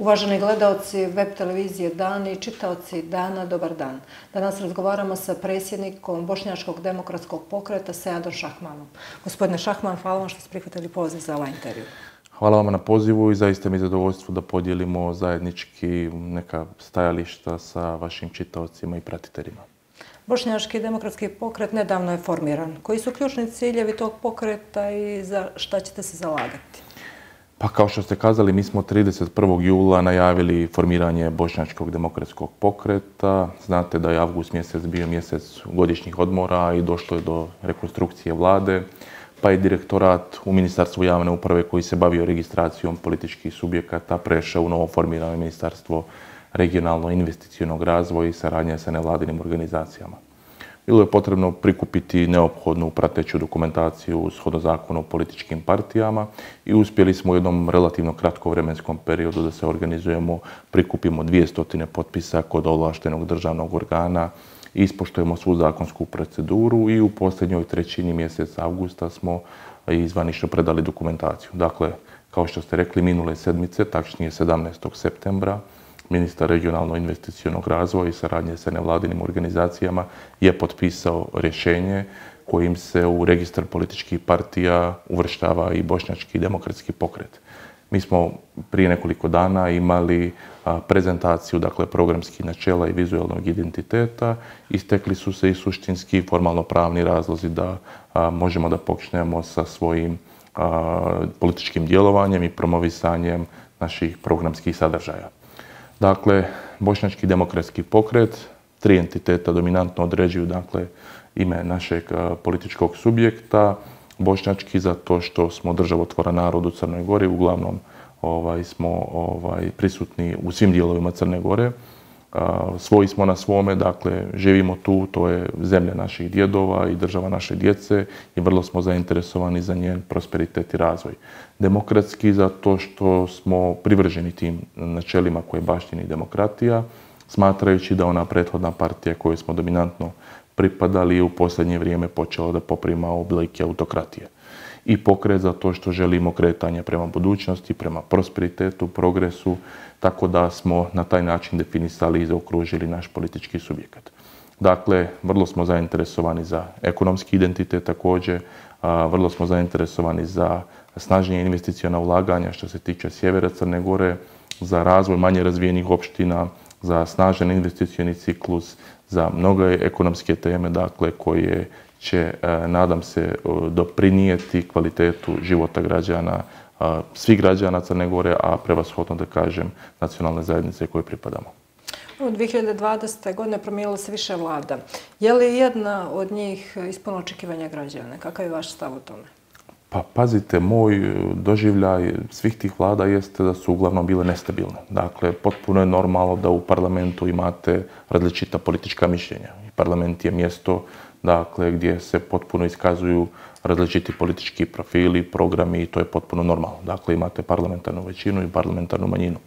Uvaženi gledaoci web televizije Dan i čitaoci Dana, dobar dan. Danas razgovaramo sa predsjednikom Bošnjačkog demokratskog pokreta Seadom Šahmanom. Gospodine Šahman, hvala vam što ste prihvatili poziv za ovaj intervju. Hvala vam na pozivu i zaista mi je zadovoljstvo da podijelimo zajednički neka stajališta sa vašim čitaocima i pratiteljima. Bošnjački demokratski pokret nedavno je formiran. Koji su ključni ciljevi tog pokreta i za šta ćete se zalagati? Pa kao što ste kazali, mi smo 31. jula najavili formiranje Bošnjačkog demokratskog pokreta. Znate da je avgust mjesec bio mjesec godišnjih odmora i došlo je do rekonstrukcije vlade, pa je direktorat u Ministarstvu javne uprave koji se bavio registracijom političkih subjekata prešao u novo formirano Ministarstvo regionalno-investicionog razvoja i saradnje sa nevladinim organizacijama. Bilo je potrebno prikupiti neophodnu prateću dokumentaciju shodno zakonu o političkim partijama i uspjeli smo u jednom relativno kratkom vremenskom periodu da se organizujemo, prikupimo 200 potpisa kod ovlaštenog državnog organa, ispoštujemo svu zakonsku proceduru i u posljednjoj trećini mjeseca avgusta smo izvanično predali dokumentaciju. Dakle, kao što ste rekli, minule sedmice, tačnije 17. septembra, ministar regionalno-investicionog razvoja i saradnje sa nevladinim organizacijama je potpisao rješenje kojim se u registar političkih partija uvrštava i Bošnjački demokratski pokret. Mi smo prije nekoliko dana imali prezentaciju, dakle, programskih načela i vizualnog identiteta. Istekli su se i suštinski formalno pravni razlozi da možemo da počnemo sa svojim političkim djelovanjem i promovisanjem naših programskih sadržaja. Dakle, Bošnjački demokratski pokret, 3 entiteta dominantno određuju, dakle, ime našeg političkog subjekta. Bošnjački zato što smo državotvoran narod u Crnoj Gori, uglavnom smo prisutni u svim dijelovima Crne Gore. Svoji smo na svome, dakle, živimo tu, to je zemlja naših djedova i država naše djece i vrlo smo zainteresovani za njen prosperitet i razvoj. Demokratski zato što smo privrženi tim načelima koje baštini demokratija, smatrajući da ona prethodna partija koju smo dominantno pripadali je u posljednje vrijeme počela da poprima oblike autokratije. I pokret zato što želimo kretanje prema budućnosti, prema prosperitetu, progresu, tako da smo na taj način definisali i zaokružili naš politički subjekat. Dakle, vrlo smo zainteresovani za ekonomski identitet također, vrlo smo zainteresovani za snažnije investiciona ulaganja što se tiče sjevera Crne Gore, za razvoj manje razvijenih opština, za snažan investicioni ciklus, za mnoge ekonomske teme, dakle, koje će, nadam se, doprinijeti kvalitetu života građana, svih građana Crne Gore, a prevashodno da kažem nacionalne zajednice koje pripadamo. U 2020. godine promijenilo se više vlada. Je li jedna od njih ispunila očekivanja građana? Kakav je vaš stav o tome? Pa pazite, moj doživljaj svih tih vlada jeste da su uglavnom bile nestabilne. Dakle, potpuno je normalno da u parlamentu imate različita politička mišljenja. Parlament je mjesto, dakle, gdje se potpuno iskazuju različiti politički profili, programi i to je potpuno normalno. Dakle, imate parlamentarnu većinu i parlamentarnu manjinu.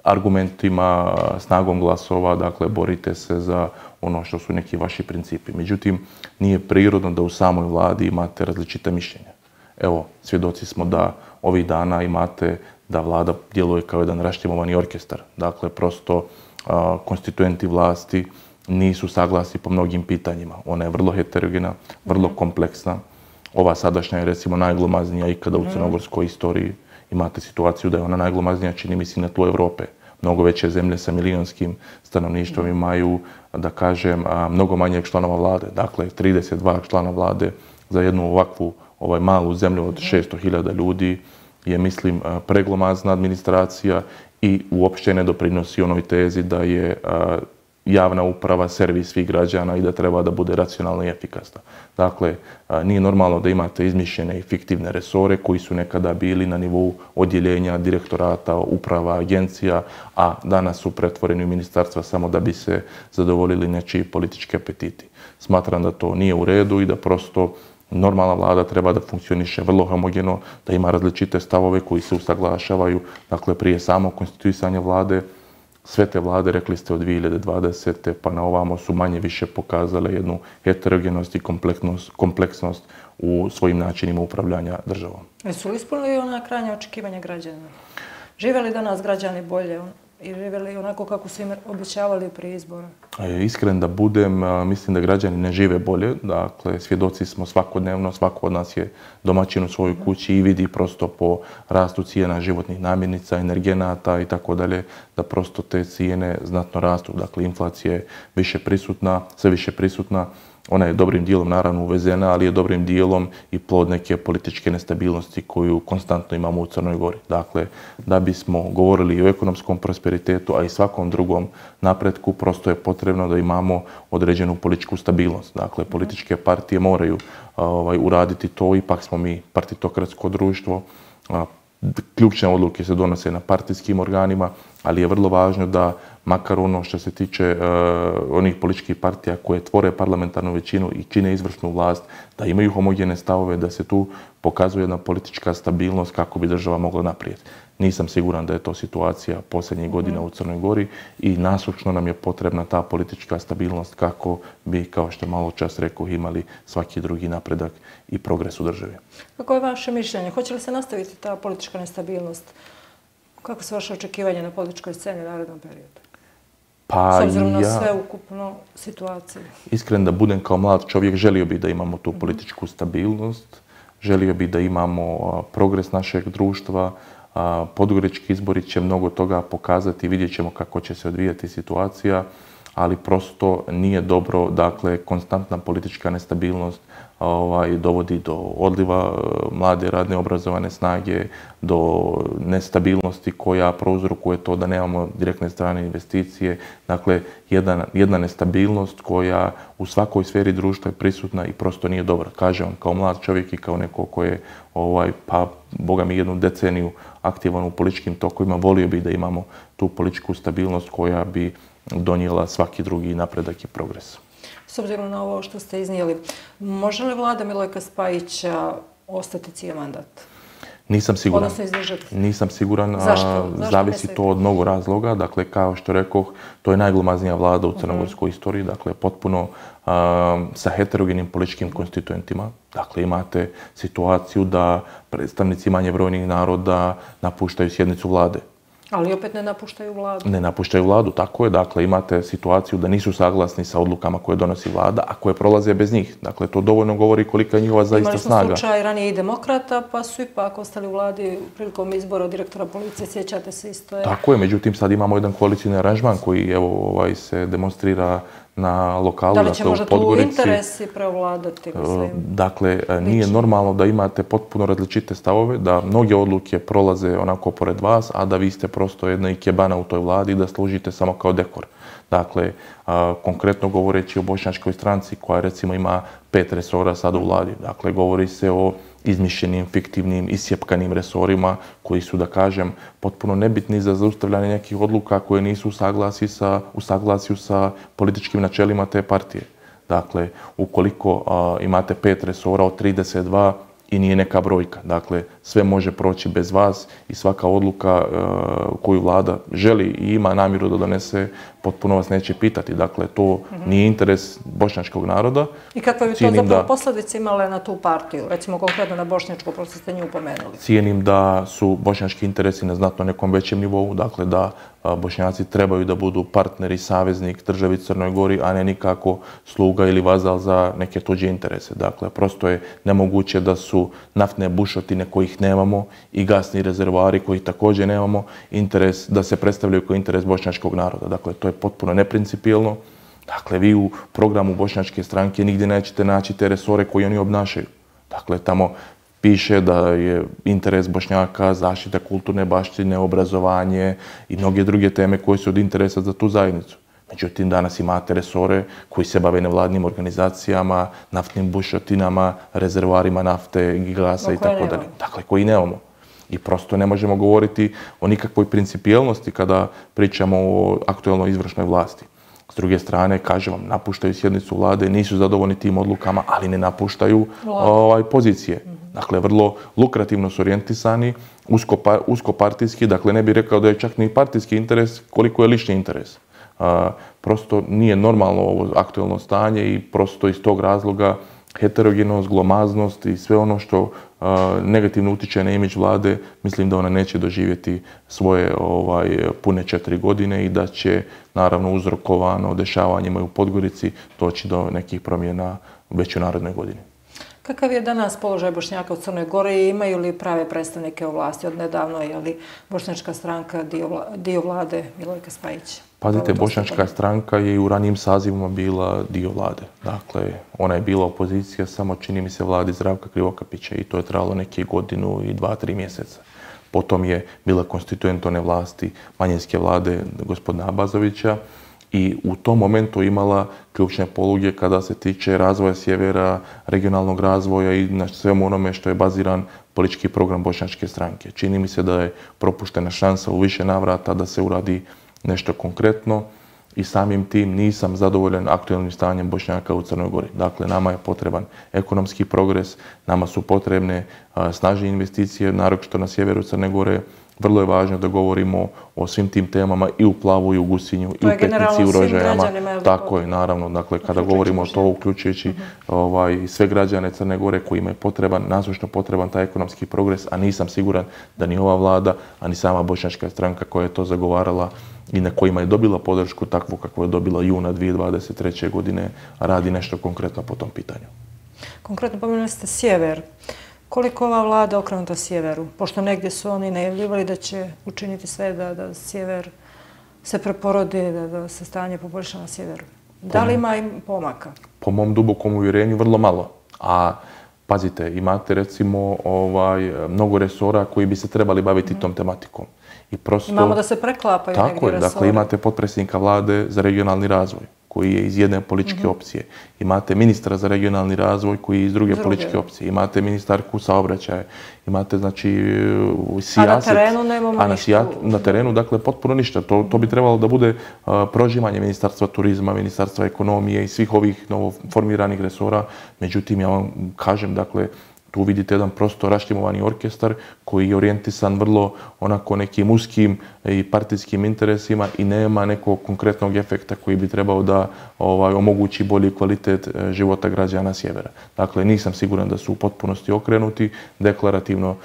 Argumentima, snagom glasova, dakle, borite se za ono što su neki vaši principi. Međutim, nije prirodno da u samoj vladi imate različita mišljenja. Evo, svjedoci smo da ovih dana imate da vlada djeluje kao jedan raštimovani orkestar. Dakle, prosto konstituenti vlasti nisu saglasni po mnogim pitanjima. Ona je vrlo heterogena, vrlo kompleksna. Ova sadašnja je, recimo, najglomaznija ikada u crnogorskoj istoriji. Imate situaciju da je ona najglomaznija, čini mi se, na tlu Evrope. Mnogo veće zemlje sa milionskim stanovništvom imaju, da kažem, mnogo manjeg članova vlade. Dakle, 32 člana vlade za jednu ovakvu malu zemlju od 600.000 ljudi je, mislim, preglomazna administracija i uopšte ne doprinosi onoj tezi da je javna uprava servis svih građana i da treba da bude racionalna i efikasna. Dakle, nije normalno da imate izmišljene i fiktivne resore koji su nekada bili na nivou odjeljenja, direktorata, uprava, agencija, a danas su pretvoreni u ministarstva samo da bi se zadovoljili nečiji politički apetiti. Smatram da to nije u redu i da prosto normalna vlada treba da funkcioniše vrlo homogeno, da ima različite stavove koji se usaglašavaju. Dakle, prije samog konstituisanja vlade, sve te vlade, rekli ste, od 2020. pa na ovamo su manje više pokazale jednu heterogenost i kompleksnost u svojim načinima upravljanja državom. Jesu li ispunili ona krajnja očekivanja građana? Žive li danas građani bolje i živjeli onako kako su im obećavali prije izbora? Iskren da budem, mislim da građani ne žive bolje. Dakle, svjedoci smo svakodnevno, svako od nas je domaćin u svojoj kući i vidi prosto po rastu cijena životnih namirnica, energenata i tako dalje, da prosto te cijene znatno rastu. Dakle, inflacija je više prisutna, sve više prisutna. Ona je dobrim dijelom naravno uvezena, ali je dobrim dijelom i plod neke političke nestabilnosti koju konstantno imamo u Crnoj Gori. Dakle, da bismo govorili i o ekonomskom prosperitetu, a i svakom drugom napretku, prosto je potrebno da imamo određenu političku stabilnost. Dakle, političke partije moraju uraditi to, ipak smo mi partitokratsko društvo. Ključne odluke se donose na partijskim organima, ali je vrlo važno da makar ono što se tiče onih političkih partija koje tvore parlamentarnu većinu i čine izvršnu vlast, da imaju homogene stavove, da se tu pokazuje jedna politička stabilnost kako bi država mogla naprijed. Nisam siguran da je to situacija posljednjih godina u Crnoj Gori i nasušno nam je potrebna ta politička stabilnost kako bi, kao što malo čas rekao, imali svaki drugi napredak i progres u državi. Kako je vaše mišljenje? Hoće li se nastaviti ta politička nestabilnost? Kako su vaše očekivanje na političkoj sceni u narednom periodu? S obzirom na sveukupnu situaciju. Iskren da budem kao mlad čovjek, želio bih da imamo tu političku stabilnost, želio bih da imamo progres našeg društva. Podgorički izbori će mnogo toga pokazati, vidjet ćemo kako će se odvijati situacija, ali prosto nije dobro, dakle, konstantna politička nestabilnost dovodi do odliva mlade radne obrazovane snage, do nestabilnosti koja prouzrokuje to da nemamo direktne strane investicije. Dakle, jedna nestabilnost koja u svakoj sferi društva je prisutna i prosto nije dobra. Kažem vam, kao mlad čovjek i kao neko ko je, pa boga mi, jednu deceniju aktivan u političkim tokovima, volio bih da imamo tu političku stabilnost koja bi donijela svaki drugi napredak i progres. S obzirom na ovo što ste iznijeli, može li vlada Milojka Spajića ostati cijeli mandat? Nisam siguran. Odnosno izdržati? Nisam siguran. Zašto? Zavisi to od mnogo razloga. Dakle, kao što rekoh, to je najglomaznija vlada u crnogorskoj istoriji. Dakle, potpuno sa heterogenim političkim konstituentima. Dakle, imate situaciju da predstavnici manje brojnih naroda napuštaju sjednicu vlade. Ali opet ne napuštaju vladu. Ne napuštaju vladu, tako je. Dakle, imate situaciju da nisu saglasni sa odlukama koje donosi vlada, a koje prolaze bez njih. Dakle, to dovoljno govori kolika je njihova zaista snaga. Imali smo slučaj ranije i demokrata, pa su ipak ostali u vladi prilikom izbora direktora policije. Sjećate se isto? Tako je, međutim, sad imamo jedan koalicijni aranžman koji se demonstrira na lokalu, da li će možda tu interesi prevladati? Dakle, nije normalno da imate potpuno različite stavove, da mnoge odluke prolaze onako pored vas, a da vi ste prosto jedna ikebana u toj vladi i da služite samo kao dekor. Dakle, konkretno govoreći o bošnjačkoj stranci koja recimo ima 5 resora sad u vladi. Dakle, govori se o izmišljenim, fiktivnim, isjepkanim resorima koji su, da kažem, potpuno nebitni za zaustavljanje nekih odluka koje nisu u saglasju sa političkim načelima te partije. Dakle, ukoliko imate 5 resora od 32 i nije neka brojka. Dakle, sve može proći bez vas i svaka odluka koju vlada želi i ima namjeru da donese, potpuno vas neće pitati. Dakle, to nije interes bošnjačkog naroda. I kakve bi to zapravo posljedice imale na tu partiju? Recimo konkretno na bošnjačku, pošto ste nju upomenuli. Cijenim da su bošnjački interesi na znatno nekom većem nivou. Dakle, da Bošnjaci trebaju da budu partneri, saveznik državi Crnoj Gori, a ne nikako sluga ili vazal za neke tuđe interese. Dakle, prosto je nemoguće da su naftne bušotine kojih nemamo i gasni rezervoari kojih također nemamo interes da se predstavljaju kao interes bošnjačkog naroda. Dakle, to je potpuno neprincipijelno. Dakle, vi u programu bošnjačke stranke nigdje nećete naći te resore koje oni obnašaju. Dakle, tamo piše da je interes Bošnjaka zaštita kulturne baštine, obrazovanje i mnoge druge teme koje su od interesa za tu zajednicu. Međutim, danas imate resore koji se bave nevladnim organizacijama, naftnim bušotinama, rezervoarima nafte, gasa i tako dalje. Dakle, koji nemamo. I prosto ne možemo govoriti o nikakvoj principijelnosti kada pričamo o aktuelnoj izvršnoj vlasti. S druge strane, kažem vam, napuštaju sjednicu vlade, nisu zadovoljni tim odlukama, ali ne napuštaju pozicije. Dakle, vrlo lukrativno su orijentisani, uskopartijski, dakle ne bih rekao da je čak ni partijski interes koliko je lični interes. Prosto nije normalno ovo aktuelno stanje i prosto iz tog razloga heterogenost, glomaznost i sve ono što negativno utiče na imidž vlade, mislim da ona neće doživjeti svoje pune 4 godine i da će, naravno, uzrokovano dešavanjima u Podgorici doći do nekih promjena već u narednoj godini. Kakav je danas položaj Bošnjaka u Crnoj Gori i imaju li prave predstavnike u vlasti? Od nedavno je li Bošnjačka stranka dio vlade Milojka Spajića? Pazite, Bošnjačka stranka je i u ranijim sazivima bila dio vlade. Dakle, ona je bila opozicija, samo čini mi se vladi Zdravka Krivokapića i to je trajalo neke godinu i 2-3 mjeseca. Potom je bila konstituent one vlasti manjinske vlade gospodina Abazovića i u tom momentu imala ključne poluge kada se tiče razvoja sjevera, regionalnog razvoja i na svemu onome što je baziran politički program Bošnjačke stranke. Čini mi se da je propuštena šansa u više navrata da se uradi nešto konkretno i samim tim nisam zadovoljan aktualnim stanjem Bošnjaka u Crnoj Gori. Dakle, nama je potreban ekonomski progres, nama su potrebne snažne investicije, naročito na sjeveru Crne Gore. Vrlo je važno da govorimo o svim tim temama i u Plavu, i u Gusinju, i u Petnici, i u Rožajama. Tako je, naravno. Dakle, kada govorimo o to, uključujući sve građane Crne Gore koji imaju potreban, nasušno potreban taj ekonomski progres, a nisam siguran da ni ova vlada, a ni sama Bošnjačka stranka koja je to zagovarala i na kojima je dobila podršku takvu kakvu je dobila juna 2023. godine, radi nešto konkretno po tom pitanju. Konkretno pomenuli ste sjever. Koliko ova vlada okrenuta sjeveru? Pošto negdje su oni najavljivali da će učiniti sve da sjever se preporodi, da se stanje poboljša na sjeveru. Da li ima im pomaka? Po mom dubokom uvjerenju vrlo malo. A pazite, imate recimo mnogo resora koji bi se trebali baviti tom tematikom. Imamo da se preklapaju negdje resori. Tako je, dakle imate potpredsjednika vlade za regionalni razvoj koji je iz jedne političke opcije. Imate ministra za regionalni razvoj koji je iz druge političke opcije. Imate ministarku saobraćaja. Imate, znači, sijaset. A na terenu nemamo ništa? Na terenu, dakle, potpuno ništa. To bi trebalo da bude prožimanje Ministarstva turizma, Ministarstva ekonomije i svih ovih novoformiranih resora. Međutim, ja vam kažem, dakle, tu vidite jedan prosto raštimovani orkestar koji je orijentisan vrlo onako nekim uskim i partijskim interesima i nema nekog konkretnog efekta koji bi trebao da omogući bolji kvalitet života građana sjevera. Dakle, nisam siguran da su u potpunosti okrenuti. Deklarativno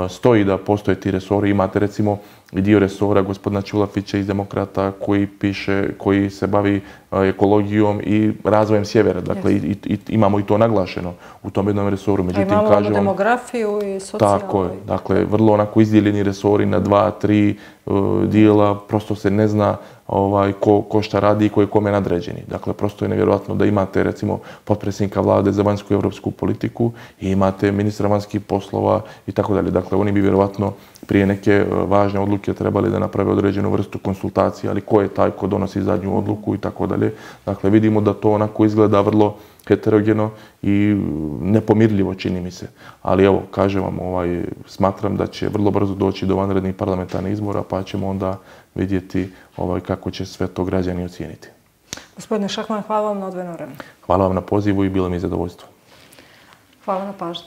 stoji da postoje ti resori. Imate recimo i dio resora gospodina Ćulafića iz Demokrata koji se bavi ekologijom i razvojem sjevera. Dakle, imamo i to naglašeno u tom jednom resoru. A imamo demografiju i socijalnu. Tako je. Dakle, vrlo onako izdijeljeni resori na 2-3 dijela. Prosto se ne zna ko šta radi i ko je kome nadređeni. Dakle, prosto je nevjerojatno da imate, recimo, potpredsjednika vlade za vanjsku i evropsku politiku i imate ministra vanjskih poslova i tako dalje. Dakle, oni bi vjerovatno prije neke važne odluke trebali da naprave određenu vrstu konsultacije, ali ko je taj ko donosi zadnju odluku i tako dalje. Dakle, vidimo da to onako izgleda vrlo heterogeno i nepomirljivo, čini mi se. Ali evo, kažem vam, smatram da će vrlo brzo doći do vanrednih parlamentarnih izbora, pa ćemo onda vidjeti kako će sve to građani ocijeniti. Gospodine Šahman, hvala vam na odvojenom vremenu. Hvala vam na pozivu i bilo mi je zadovoljstvo. Hvala na pažnju.